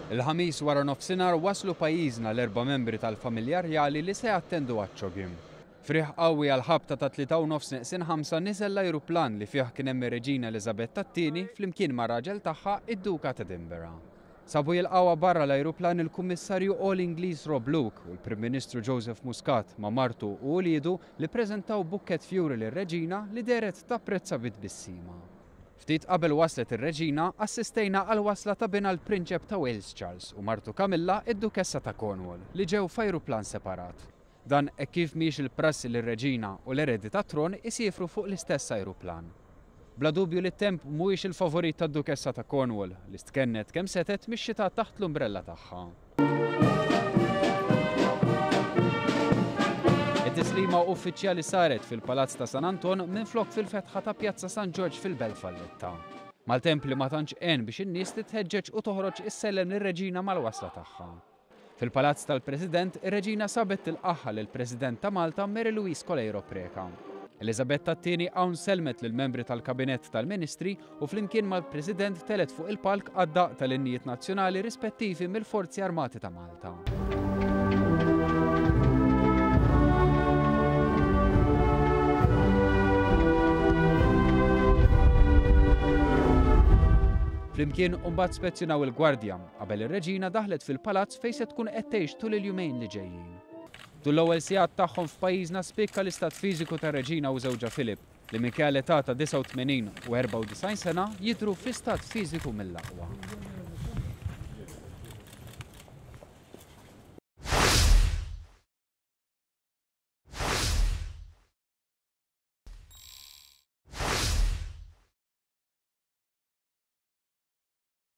Il-Ħamis wara nofsinhar waslu pajjiżna l-erba' membri tal-familja rjali li se jattendu għaċ-CHOGM. F'riħ qawwi għall-ħabta tat-tlieta u nofs neqsin ħamsa niżel l-ajruplan li fih kien hemm ir-Reġina Eliżabetta t-Tieni flimkien mar-raġel tagħha id-Duka t'Edinburgh. Sabu jilqgħuha barra l-ajruplan il-Kummissarju Għoli Ingliż Rob Luke u l-Prim Ministru Joseph Muscat ma' martu u uliedu li ppreżentaw bukkett fjuri lir-Reġina li dehret tapprezza bi tbissima. Ftit qabel waslet ir-Reġina, assistejna għall-wasla ta' binha l-Prinċep ta' Wales Charles u martu Camilla id-Dukessa ta' Cornwall li ġew f'ajruplan separat. Dan hekk kif mhijiex il-prassi li r-Reġina u l-eredi tat-tron isiefru fuq l-istess ajruplan. Bla dubju li t-temp mhuwiex il-favorit tad-Dukessa ta' Cornwall, li stkennet kemm setgħet mix-xita taħt l-umbrella tagħha. It-tislima uffiċjali saret fil-Palazz ta' San Anton minflok fil-fetħa ta' Pjazza San Ġorġ fil-Belt Valletta. Maltemp li ma tantx għen biex in-nies titħeġġeġ u toħroġ issellem lir-Reġina mal-wasla tagħha. Fil-Palazz tal-President, ir-Reġina sabet tilqagħha lill-President ta' Malta Mary Louise Coleiro Preca. Eliżabetta t-Tieni hawn sellmet lill-membri tal-Kabinett tal-Ministri u flimkien mal-President telgħet fuq il-palk għad-daqq tal-innijiet nazzjonali rispettivi mill-Forzi Armati ta' Malta. Flimkien imbagħad spezzjonaw il-Gwardja. Qabel ir-Reġina daħlet fil-palazz fejn se tkun qed tgħix tul il-jumejn li ġejjin. Tul l-ewwel sigħat tagħhom f'pajjiżna spikka l-istat fiżiku tar-Reġina u żewġha Philip, li minkejja l-età ta' 89 u 94 sena jidhru fi stat fiżiku mill-aqwa.